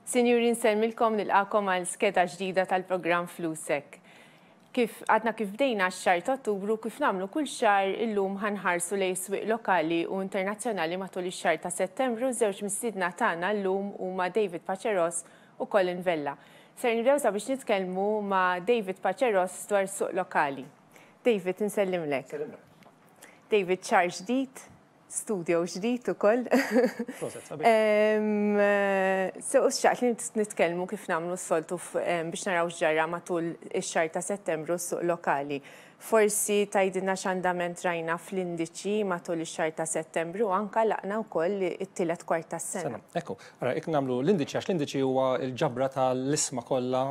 Sinjuri nsellmilkom nilqakom għal skeda ġdida tal-programm Flusek. Kif għadna kif bdejna x-xahar ta' Ottubru, kif nagħmlu kull xahar illum ħa nħarsu lejn swieq lokali u internazzjonali matul ix-xahar ta' Settembru. Żewġ mistiedna tagħna llum huma David Paceros u Colin Vella. Ser nibdew sabiex nitkellmu ma' David Paceros dwar suq lokali. David, insellimlek. David, xahar ġdid, studio ġdid ukoll. So, xtaqt li nitkellmu kif nagħmlu s-soltu biex naraw x'ġara matul ix-xahar ta' Settembru s-suq lokali. Forsi tgħidilna x'andament rajna fl-indiċi matul ix-xahar ta' Settembru anka laqna wkoll it-tielet kwart tas-sena. Ekku, ara jekk nagħmlu l-indiċi għax l-indiċi huwa l-ġabra tal-ishma kollha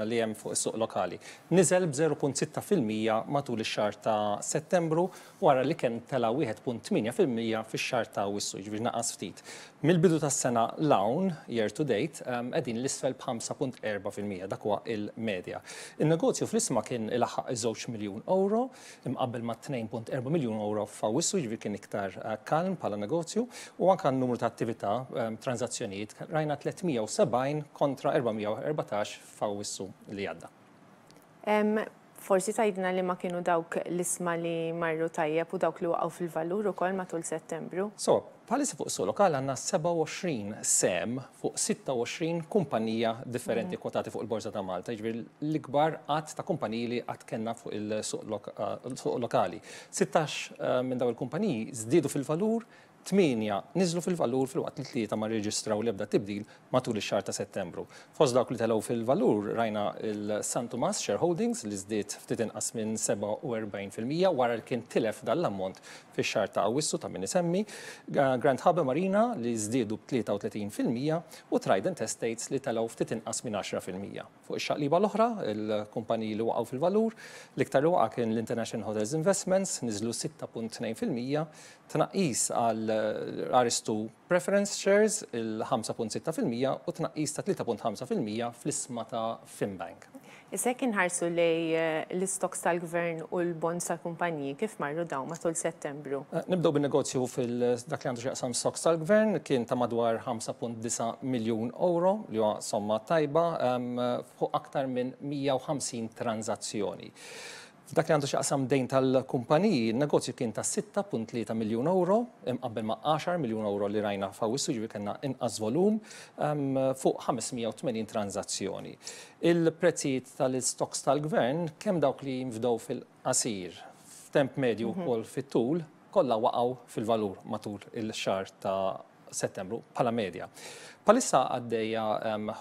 li hemm fuq is-suq lokali. Niżel b'0.6% matul ix-xahar ta' Settembru wara li kien tela' 1.8% fix-xahar ta' Awwissu, jiġifieri naqas ftit. Mill-bidu tas-sena 'l hawn, year to date, qegħdin 'l isfel b'5.4%, dak huwa il-medja. In-negozju fl-ishma kien ilaħħaq iż-żewġ miljun ewro, imqabbel ma' 2.4 miljun ewro f'Awwissu, jiġifieri kien iktar kalm bħala negozju, u anke n-numru ta' attività, tranżazzjonijiet, rajna 370 kontra 414 f'Awwissu li għadda. Forsi tgħidilna liema kienu dawk l-ishma li marru tajjeb u dawk li waqgħu fil-valur ukoll matul Settembru? So, bħalissa fuq is-suq lokali għandna 27 sehem fuq 26 kumpanija differenti kwotati fuq il-Borża ta' Malta, jiġifieri l-ikbar għadd ta' kumpaniji li qatt kellna fuq il-suq lokali. 16 minn dawn il-kumpaniji żdiedu fil-valur, Tmienja niżlu fil-valur filwaqt li tlieta ma rreġistraw l-ebda tibdil matul ix-xahar ta' Settembru. Fost dawk li telgħu fil-valur rajna l-San Tumas Shareholdings li żdied ftit inqas minn 47% wara li kien tilef dan l-ammont fix-xahar ta' Awwissu ta' min isemmi, Grand Harbour Marina li żdiedu b'33% u Trident Estates li telgħu ftit inqas minn 10%. Fuq ix-xaqliba l-oħra, il-kumpaniji li waqgħu fil-valur, l-iktar li waqa' kien l-International Hotels Investments, niżlu 6.2%, tnaqqis għal Aristu Preference Shares il-5.6% u tnaqqis ta' 3.5% fl-ishma ta' Finbank. Issa jekk inħarsu lejn l-istocks tal-Gvern u l-bonds tal-kumpaniji, kif marru dawn matul Settembru? Nibdew bin-negozju fil-dak li għandu x'jaqsam stocks tal-Gvern, kien ta' madwar 5.9 miljun ewro, li huwa somma tajba, fuq aktar minn 150 tranżazzjoni. F'dak li għandu x'jaqsam dejn tal-kumpaniji, in-negozju kien ta' 6.3 miljun ewro, imqabbel ma' 10 miljun ewro li rajna f'Awwissu, jiġifieri kellna inqas volum, fuq 580 tranżazzjoni. Il-prezzijiet tal-istocks tal-Gvern, kemm dawk li jinfdew fil-qasir, f'temp medju u wkoll fit-tul, kollha waqgħu fil-valur matul il-xahar ta' Settembru bħala medja. Bħalissa għaddejja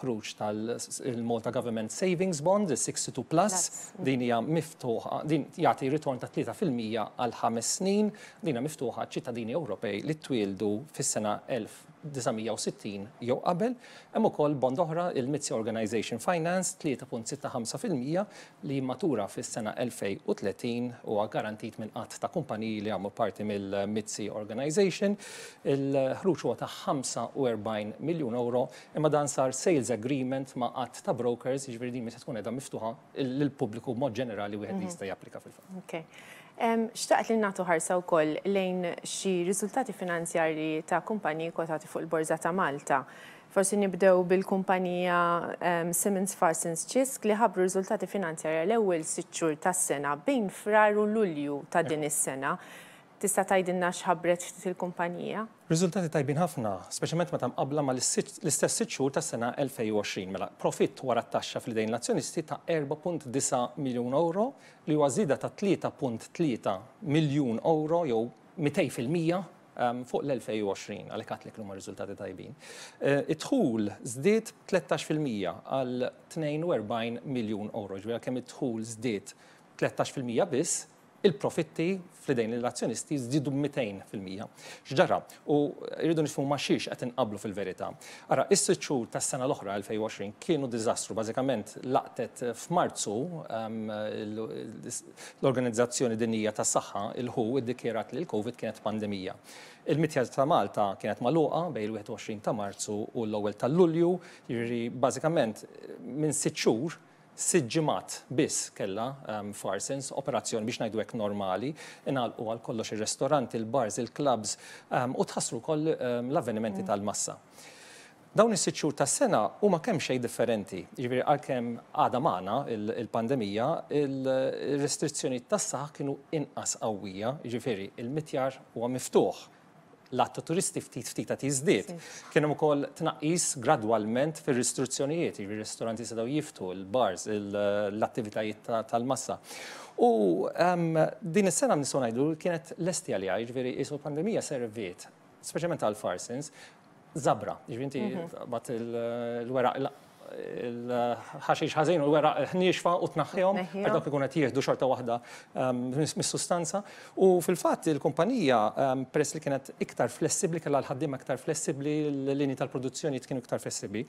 ħruġ tal-Malta Government Savings Bond, il-62 Plus, din hija miftuħa, din jagħti ritorn ta' 3% għal ħames snin, din hija miftuħa għaċ-ċittadini Ewropej li twieldu fis-sena 1960 jew qabel. Hemm ukoll bond oħra, il-Mizzi Organization Finance, 3.65% li jimmatura fis-sena 2030 huwa garantit minn għadd ta' kumpaniji li jagħmlu parti mill-Mizzi Organization. Il-ħruġ huwa ta' 45 miljun ewro, imma dan sar sales agreement ma' għadd ta' brokers, jiġifieri din mhix se tkun qiegħda miftuħa lill-pubbliku b'mod ġenerali wieħed li jista' japplika fil-fatt. Okay. Xtaqt li nagħtu ħarsa wkoll lejn xi riżultati finanzjarji ta' kumpaniji kwotati fuq il-Borża ta' Malta. Forsi nibdew bil-kumpanija Simmons Farsons Cisk li ħabbru riżultati finanzjarji għall-ewwel sitt xhur tas-sena bejn Frar u Lulju ta' din is-sena. Tista' tgħidilna x'ħabbret ftit il-kumpanija? Riżultati tajbin ħafna, speċjalment meta mqabbla ma' l-istess sitt xhur tas-sena 2020. Mela, profitt wara t-taxxa fl-idejn l-azzjonisti ta' 4.9 miljun ewro, li huwa żieda ta' 3.3 miljun ewro jew 200% fuq l-2020, għalhekk għedtlek li huma riżultati tajbin. Id-dħul żdied b'13% għal 42 miljun ewro, jiġifieri għalkemm id-dħul żdied 13% biss, il-profitti fl-idejn l-azzjonisti żdiedu b'200%. X'ġara? U rridu nifhmu ma' xiex qed inqabblu fil-verità. Ara, is-sitt xhur tas-sena l-oħra 2020 kienu diżastru, bażikament laqtet f'Marzu L-Organizzazzjoni Dinjija tas-Saħħa, il-WHO, iddikjarat li l-Covid kienet pandemija. Il-mitja ta' Malta kienet magħluqa bejn il-21 ta' Marzu u l-ewwel ta' Lulju, jiġifieri bażikament minn sitt xhur, sitt ġimgħat biss kellha Farsons operazzjoni biex ngħidu hekk normali, ingħalqu għal kollox ir-restoranti, il-bars, il-clubs u tħassru wkoll l-avvenimenti tal-massa. Dawn is-sitt xhur tas-sena huma kemxejn differenti. Jiġifieri għalkemm għadha magħna l-pandemija, ir-restrizzjonijiet tas-saħħa kienu inqas qawwija, jiġifieri l-mitjar huwa miftuħ, l-għadd ta' turisti ftit ftit qed jiżdied. Kien hemm ukoll tnaqqis gradwalment fir-ristruzzjonijiet, jiġifieri r-ristoranti setgħu jiftħu, il-bars, l-attivitajiet tal-massa. U din is-sena nistgħu ngħidu li kienet lesti għaliha, jiġifieri qisu l-pandemija serviet, speċjalment għall-Farsons, żabra. Jiġifieri inti taqbad il-weraq il-ħaxix ħażin u l-weraq niexfa u tnaħħihom, għax dawk ikunu qed jieħdu xorta waħda mis-sustanza. U fil-fatt il-kumpanija peress li kienet iktar flessibbli, kellha l-ħaddiema iktar flessibbli, l-linji tal-produzzjoni kienu iktar flessibbli.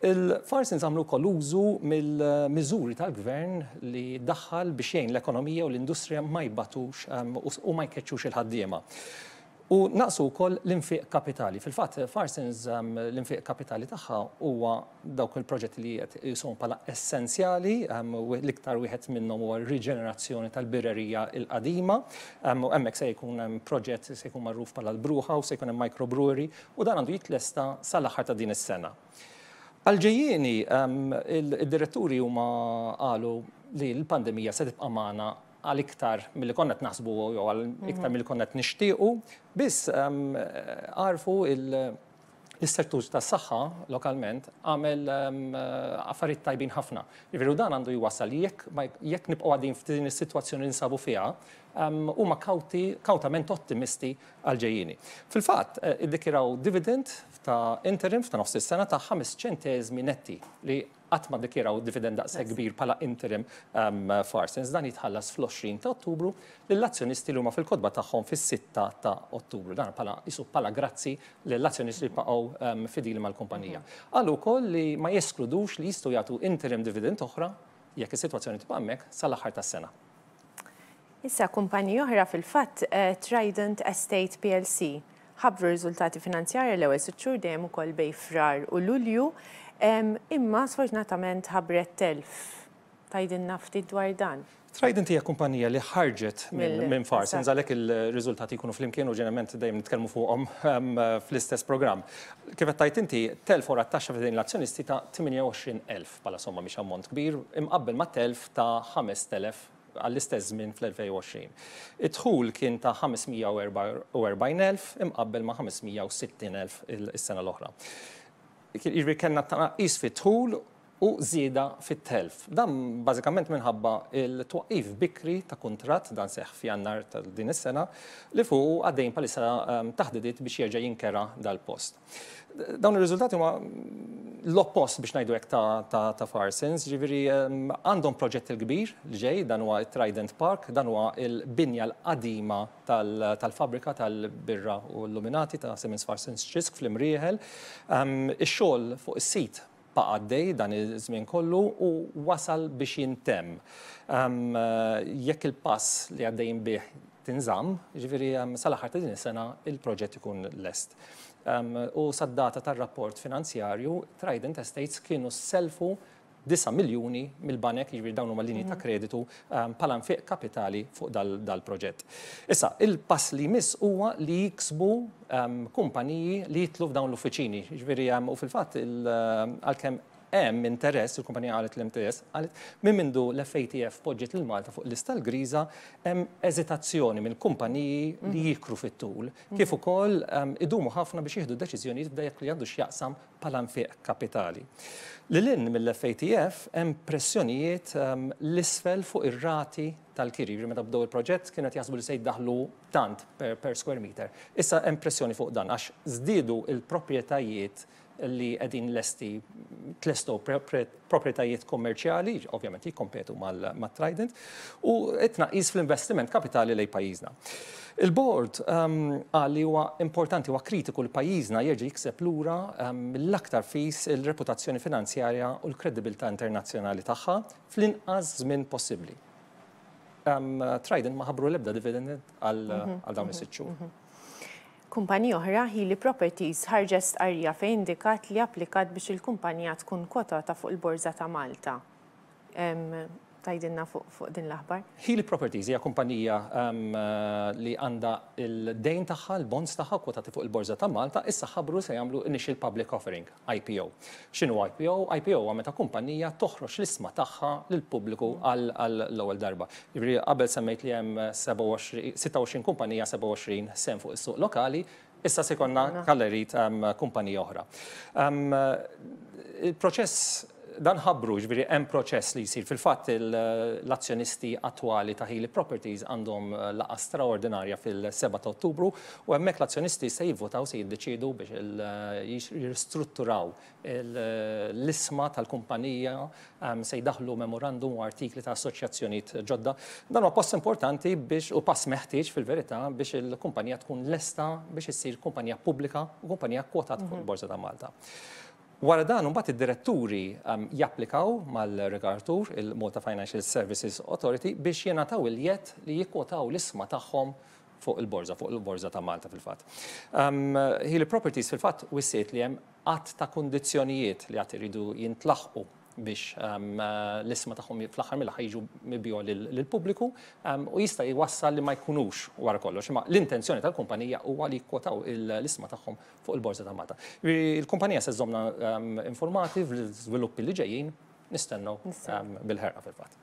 Il-Farsons għamlu wkoll użu mill-miżuri tal-gvern li daħħal biex jgħin l-ekonomija u l-industrija ma jbatux u ma jkeċċux il-ħaddiema. U naqsu wkoll l-infiq kapitali. Fil-fatt, Farsons l-infiq kapitali tagħha huwa dawk il-proġetti li qed iqisuhom bħala essenzjali, l-iktar wieħed minnhom huwa r-riġenerazzjoni tal-birrerija l-qadima. U hemmhekk se jkun hemm proġett se jkun magħruf bħala l-Brew House, se jkun hemm microbrewery u dan għandu jitlesta sal-aħħar ta' din is-sena. Għall-ġejjieni, id-diretturi huma qalu li l-pandemija se tibqa' magħna għal iktar milli konna qed naħsbu jew għal iktar milli konna qed nixtiequ, biss għarfu l-settur tas-saħħa lokalment għamel affarijiet tajbin ħafna. Jiġifieri dan għandu jwassal li jekk jekk nibqgħu għaddejjin f'din is-sitwazzjoni li nsabu fiha, huma kawti kawtament ottimisti għall-ġejjieni. Fil-fatt, iddikjaraw dividend ta' interim ta' nofs is-sena ta' 5 ċenteżmi netti li Qatt ma ddikjaraw dividend daqshekk kbir bħala interim Farsons. Dan jitħallas fl-20 ta' Ottubru lill-azzjonisti li huma fil-kotba tagħhom fis-sitta ta' Ottubru. Dan bħala qisu bħala grazzi lill-azzjonisti li baqgħu fidili mal-kumpanija. Qalu wkoll li ma jeskludux li jistgħu jagħtu interim dividend oħra jekk is-sitwazzjoni tibqa' hemmhekk sal-aħħar tas-sena. Issa kumpaniji oħra fil-fatt Trident Estate plc ħabbru r-riżultati finanzjarji l-ewwel sitt xhur dejjem ukoll bejn Frar u Lulju imma sfortunatament ħabbret telf. Tgħidilna ftit dwar dan? Trident hija kumpanija li ħarġet minn Farsons għalhekk il-riżultati jkunu flimkien u ġeneralment dejjem nitkellmu fuqhom fl-istess programm. Kif qed tgħid inti, telf wara t-taxxa f'idejn l-azzjonisti ta' 28,000 bħala somma mhix ammont kbir imqabbel ma' telf ta' 5,000 għall-istess żmien fl-2020. Id-dħul kien ta' 544,000 imqabbel ma' 560,000 is-sena l-oħra. Jiġifieri kellna tnaqqis fid-dħul u żieda fit-telf. Dan bażikament minħabba l-twaqqif bikri ta' kuntratt, dan seħħ f'Jannar ta' din is-sena, li fuqu għaddejjin bħalissa taħdidiet biex jerġa' jinkera dal-post. Dawn ir-riżultati huma l-oppost biex ngħidu hekk ta' Farsons, ġifieri għandhom proġett il-kbir li ġej, dan huwa t-Trident Park, dan huwa l-binja l-qadima tal-fabbrika tal-birra u l-luminati ta' Siemens Farsons Cisk fl-Imrieħel. Ix-xogħol fuq is-sit baqa' għaddej dan iż-żmien kollu u wasal biex jintemm. Jekk il-pass li għaddejjin bih tinżamm, jiġifieri sal-aħħar ta' din is-sena il-proġett ikun lest. U sad-data tar-rapport finanzjarju, Trident Estates kienu sellfu 9 miljuni mill-banek, jiġifieri dawn huma linji ta' kreditu bħala nfiq kapitali fuq dal-proġett. Issa, il-pass li jmiss huwa li jiksbu kumpaniji li jidħlu f'dawn l-uffiċini. Jiġifieri u fil-fatt għalkemm hemm interess, il-kumpanija qalet li hemm interess, qalet minn mindu l-FATF poġġiet lil Malta fuq il-lista l-griża hemm eżitazzjoni mill-kumpaniji li jikru fit-tul, kif ukoll idumu ħafna biex jieħdu deċiżjonijiet f'dak li għandu x'jaqsam bħala nfiq kapitali. Lil hinn mill-FATF hemm pressjonijiet 'l isfel fuq ir-rati tal-kiri. Jiġifieri meta bdew il-proġett kienu qed jaħsbu li se jiddaħħlu tant per square meter. Issa hemm pressjoni fuq dan għax żdiedu l-proprjetajiet li qegħdin lesti tlestow proprjetajiet kummerċjali, ovvjament jikkompetu mat-Trident, u t-tnaqqis fl-investiment kapitali lejn pajjiżna. Il-Bord qal li huwa importanti, huwa kritiku li pajjiżna jerġa' jikseb lura mill-aktar fis il-reputazzjoni finanzjarja u l-kredibilità internazzjonali tagħha fl-inqas żmien possibbli. Trident ma ħabbru l-ebda dividend għal dawn is-sitt xhur. Kumpanija oħra, Hili Properties, ħarġet stqarrija fejn indikat li applikat biex il-kumpanija tkun kwotata fuq il-Borża ta' Malta. tgħidilna fuq din l-aħbar? Hili Properties hija kumpanija li għandha l-dejn tagħha, l-bonds tagħha kwotati fuq il-Borża ta' Malta, issa ħabbru se jagħmlu Initial Public Offering, IPO. X'inhu IPO? IPO huwa meta kumpanija toħroġ l-isma tagħha lill-pubbliku għall-ewwel darba. Jiġifieri qabel semmejt li hemm 26 kumpanija 27 sehem fuq is-suq lokali, issa se jkollna kallerit kumpanija oħra. Il-proċess dan ħabbru, ġifieri hemm proċess li jsir. Fil-fatt l-azzjonisti attwali ta' Hili Properties għandhom laqgħa straordinarja fil-7 ta' Ottubru u hemmhekk l-azzjonisti se jivvotaw, se jiddeċiedu biex jirristrutturaw l-isma tal-kumpanija, se jdaħħlu memorandum u artikli ta' assoċjazzjonijiet ġodda. Dan huwa pass importanti biex u pass meħtieġ fil-verità biex il-kumpanija tkun lesta biex issir kumpanija pubblika u kumpanija kwotata fuq il-Borża ta' Malta. Wara dan imbagħad id-diretturi japplikaw mal-regolatur, il-Malta Financial Services Authority, biex jingħataw il-jedd li jikkwotaw l-isma tagħhom fuq il-borża, fuq il-Borża ta' Malta fil-fatt. Hili Properties fil-fatt wissiet li hemm għadd ta' kundizzjonijiet li għad iridu jintlaħqu biex l-isma tagħhom fl-aħħar mill-aħħar jiġu mibjugħa lill-pubbliku u jista' jwassal li ma jkunux wara kollox. Imma l-intenzjoni tal-kumpanija huwa li jikkwotaw l-isma tagħhom fuq il-Borża ta' Malta. Il-kumpanija se żżommna informati fl-iżviluppi li ġejjin, nistennew bil-ħerqa fil-fatt.